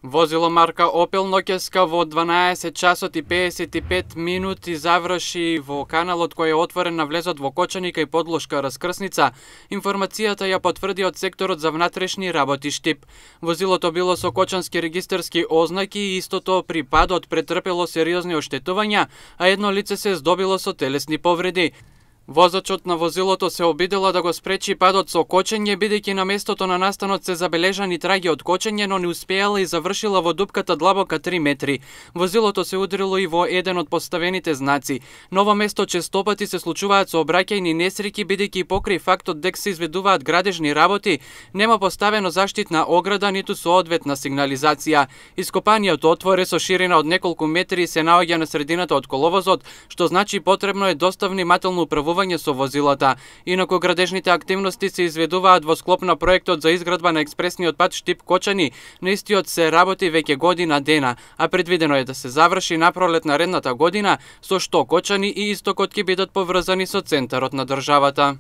Возило марка Opel ноќеска во 12 часот и 55 минути заврши во каналот кој е отворен на влезот во Кочани кај подлошка раскрсница. Информацијата ја потврди од секторот за внатрешни работи Штип. Возилото било со кочански регистарски ознаки и истото при падот претрпело сериозни оштетувања, а едно лице се здобило со телесни повреди. Возачот на возилото се обидела да го спречи падот со кочење, бидејќи на местото на настанот се забележани траги од кочење, но не успеала и завршила во дупката длабока 3 метри. Возилото се удрило и во еден од поставените знаци. На ово место честопати се случуваат сообраќајни несреќи, бидејќи покрај фактот дека се изведуваат градежни работи, нема поставено заштитна ограда ниту соодветна сигнализација. Ископаниот отвор е со ширина од неколку метри и се наоѓа на средината од коловозот, што значи потребно е доста внимателно управување со возилата. Инаку градежните активности се изведуваат во склоп на проектот за изградба на експресниот пат Штип-Кочани. На истиот се работи веќе година дена, а предвидено е да се заврши напролет наредната година, со што Кочани и Истокот ќе бидат поврзани со центарот на државата.